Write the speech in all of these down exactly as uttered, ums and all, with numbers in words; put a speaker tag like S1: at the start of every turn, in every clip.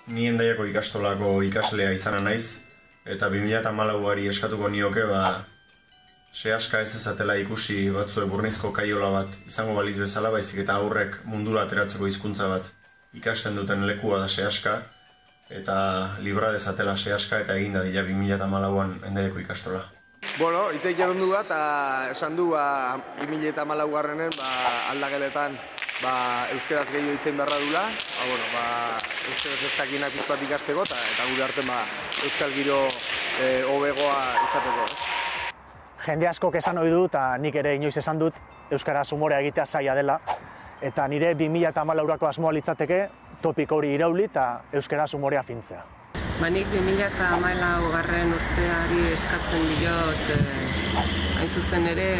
S1: Ni Hendaiako ikastolako ikaslea izana naiz, eta bi mila hamalauari eskatuko nioke, ba, sehaska ez dezatela ikusi batzue burnizko kaiola bat izango baliz bezala, baizik eta aurrek mundura ateratzeko hizkuntza bat ikasten duten lekua da sehaska, eta libra dezatela sehaska eta eginda dira bi mila hamalauan Hendaiako ikastola.
S2: Bueno, hitzeik eron du bat, esan du bi mila hamalaugarrenen aldageletan euskeraz gehiago hitzein beharra dula, euskeraz ez dakinak pizkoat ikasteko, eta gure artean euskal giro hobegoa izateko.
S3: Jende askok esan ohi du, eta nik ere inoiz esan dut, euskaraz umorea egitea zaila dela, eta nire bi mila hamalaurako asmoa litzateke topiko hori irauli eta euskaraz umorea fintzea.
S4: Ba, nik bi mila hamalaugarren urteari eskatzen diot, hain zuzen ere,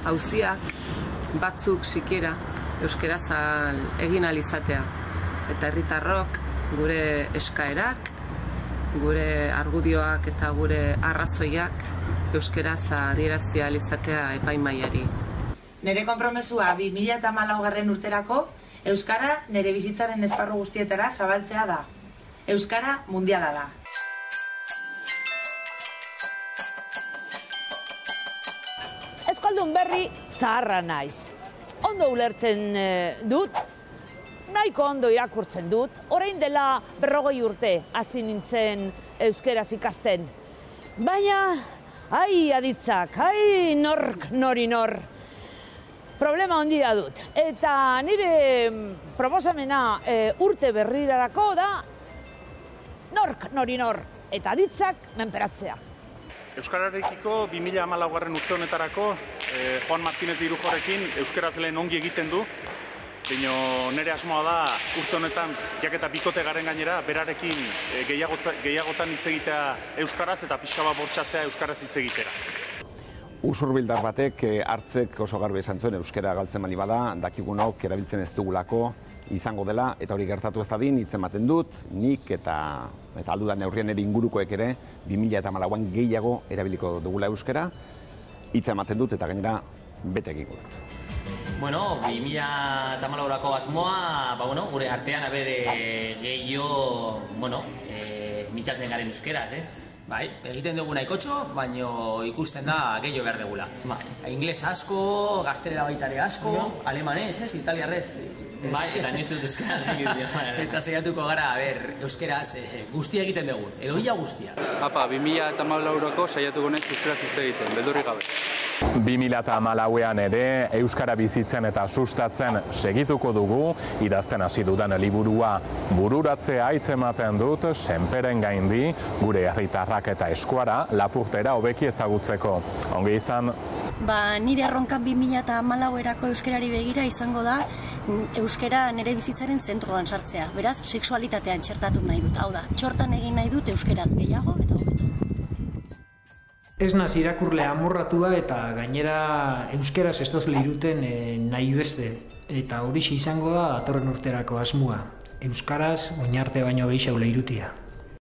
S4: auziak batzuk sikiera euskaraz egin ahal izatea. Eta herritarrok gure eskaerak, gure argudioak eta gure arrazoiak euskaraz adierazi ahal izatea epaimahaiari.
S5: Nire konpromesua bi mila hamalaugarren urterako euskara nire bizitzaren esparru guztietara zabaltzea da. Euskara mundiala da.
S6: Euskaldun berri zaharra naiz. Ondo ulertzen dut, nahiko ondo irakurtzen dut, orain dela berrogei urte hasi nintzen euskeraz ikasten. Baina, ai aditzak, ai nork nori nor, problema handia dut. Eta nire proposamena urte berrirarako da, nork nori nor, eta aditzak menperatzea.
S7: Euskararekiko bi mila hamalaugarren urte honetarako Juan Martínez de Irujorekin euskaraz lehen ongi egiten du, baina nire asmoa da urte honetan, jaketa bikote garen gainera, berarekin gehiagotan hitz egitea euskaraz eta pixka bat bortxatzea euskaraz hitz egitera.
S8: Usurbildar batek hartzek oso garbi esan zuen euskara galtzen bali bada, dakigunok erabiltzen ez dugulako izango dela, eta hori gertatu ez dadin hitz ematen dut, nik eta eta aldudan neurrien ere ingurukoek ere bi mila hamalauan gehiago erabiliko dugula euskara, hitz ematen dut eta gainera bete egingo dut.
S9: Bueno, bi mila hamalaurako asmoa, ba, bueno, gure artean abere gehiago, bueno, e, mitxatzen garen euskeraz, ez?
S10: Bai, egiten dugu nahikotxo, baina ikusten da gehiago behar dugula. Bai. Ingles asko, gaztelera baitare asko, no. Alemanez, ez, italiarrez.
S9: Bai, eta nioz dut euskaraz egiten.
S10: Eta saiatuko gara, a ber, euskaraz guztia egiten dugu, edo ia guztia.
S7: Apa, bi mila hamalaurako saiatuko naiz euskaraz hitz egiten, beldurrik gabe.
S11: bi mila hamalauean ere euskara bizitzen eta sustatzen segituko dugu, idazten hasi dudan liburua bururatzea hitz ematen dut senperen gaindi gure herritarrak eta eskuara lapurtera hobeki ezagutzeko. Ongi izan.
S12: Ba, nire erronkan bi mila hamalauerako euskarari begira izango da euskara nire bizitzaren zentroan sartzea. Beraz, sexualitatean txertatu nahi dut. Hau da, txortan egin nahi dut euskaraz gehiago eta hobeto.
S13: Ez naz irakurle amorratua eta gainera euskeraz ez dozle iruten nahi beste. Eta horixe izango da datorren urterako asmoa. Euskaraz oinarte baino gehiago leirutia.